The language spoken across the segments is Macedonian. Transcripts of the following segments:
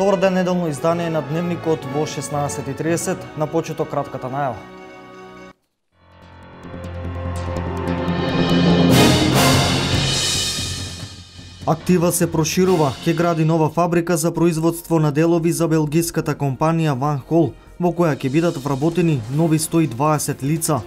Добар ден, неделно издание на Дневникот во 16:30, на почеток кратката најава. Актива се проширува, ќе гради нова фабрика за производство на делови за белгиската компанија Van Hol, во која ќе бидат вработени нови 120 лица.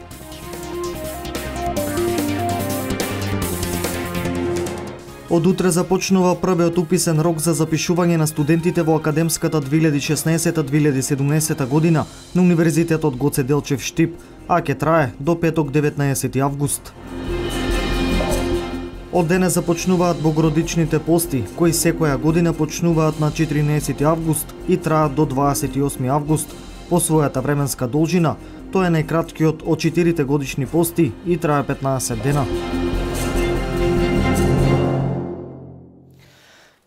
Од утре започнува првиот уписен рок за запишување на студентите во академската 2016-2017 година на Универзитетот Гоце Делчев Штип, а ќе трае до петок 19 август. Од денес започнуваат богородичните пости, кои секоја година почнуваат на 14 август и траат до 28 август. По својата временска должина, тој е најкраткиот од 4 годишни пости и трае 15 дена.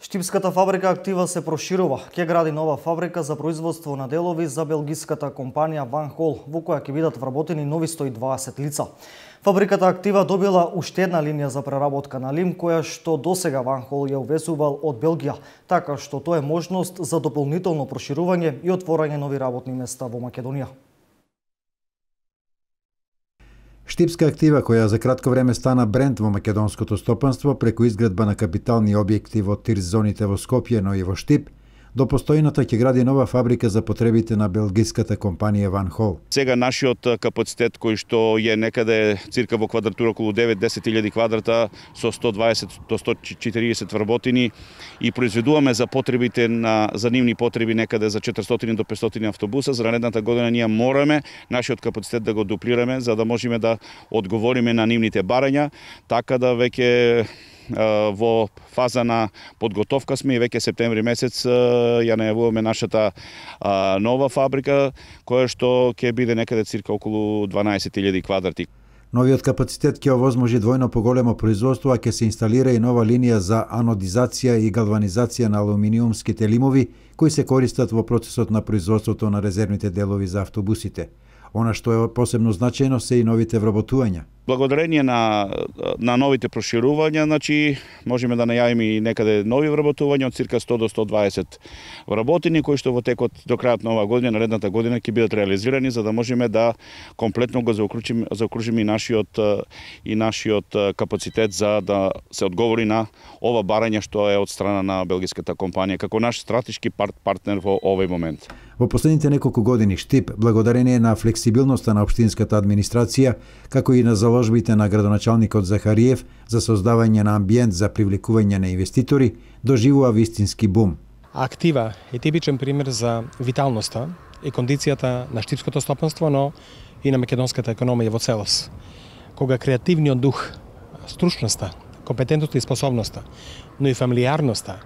Штипската фабрика Актива се проширува. Ќе гради нова фабрика за производство на делови за белгиската компанија Van Hol, во која ќе бидат вработени нови 120 лица. Фабриката Актива добила уште една линија за преработка на лим, која што досега Van Hol ја увезувал од Белгија, така што тоа е можност за дополнително проширување и отворање нови работни места во Македонија. Штипска Актива, која за кратко време стана бренд во македонското стопанство преку изградба на капитални објекти во тир зоните во Скопје, но и во Штип, до постојната ќе гради нова фабрика за потребите на белгиската компанија Van Hol. Сега нашиот капацитет кој што е некаде цирка во квадратура околу 9-10.000 квадрата со 120 до 140 вработени и произведуваме за потребите за нивни потреби некаде за 400 до 500 автобуса. За наредната година ние мораме нашиот капацитет да го дуплираме за да можеме да одговориме на нивните барања, така да веќе во фаза на подготовка сме и веќе септември месец ја најавуваме нашата нова фабрика, која што ќе биде некаде цирка околу 12.000 квадрати. Новиот капацитет ќе овозможи двојно поголемо производство, а ќе се инсталира и нова линија за анодизација и галванизација на алуминиумските лимови, кои се користат во процесот на производството на резервните делови за автобусите. Она што е посебно значајно се и новите вработувања. Благодарение на новите проширувања, значи можеме да најавиме и некаде нови вработувања од цирка 100 до 120 вработени кои што во текот до крајот на оваа година, наредната година ќе бидат реализирани за да можеме да комплетно го заокружиме и нашиот капацитет за да се одговори на ова барање што е од страна на белгиската компанија како наш стратешки партнер во овој момент. Во последните неколку години Штип, благодарение на флексибилноста на општинската администрација, како и на заложбите на градоначалникот Захариев за создавање на амбиент за привлекување на инвеститори, доживува вистински бум. Актива е типичен пример за виталноста и кондицијата на штипското стопанство, но и на македонската економија во целост. Кога креативниот дух, стручноста, компетентноста и способноста, но и фамилиарноста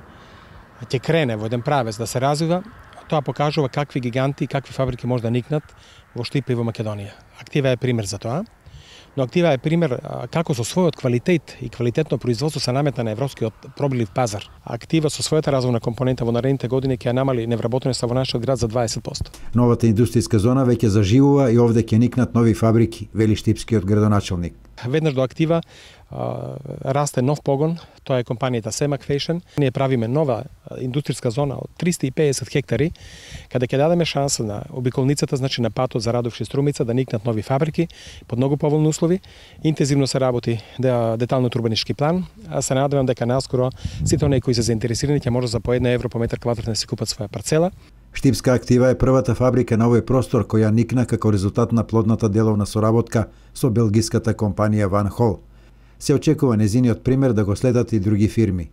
ќе крене во еден правец да се развива, тоа покажува какви гиганти и какви фабрики може да никнат во Штип и во Македонија. Актива е пример за тоа, но Актива е пример како со својот квалитет и квалитетно производство се наметна на европскиот пробилив пазар. Актива со својата развојна компонента во наредните години ќе намали невработеноста во нашиот град за 20%. Новата индустријска зона веќе заживува и овде ќе никнат нови фабрики, вели штипскиот градоначалник. Веднаш до Актива расте нов погон, тоа е компанијата Семак Фешн. Ние правиме нова индустријска зона од 350 хектари, каде ќе дадеме шанса на обиколницата, значи на патот за Радовиш и Струмица да никнат нови фабрики под многу поволни услови. Интензивно се работи деталниот урбанички план, а се надевам дека наскоро сите оние кои се заинтересирани ќе може за по 1 евро по метар квадратен да си купат своја парцела. Штипска Актива е првата фабрика на овој простор која никна како резултат на плодната деловна соработка со белгиската компанија Van Hol. Се очекува незиниот пример да го следат и други фирми.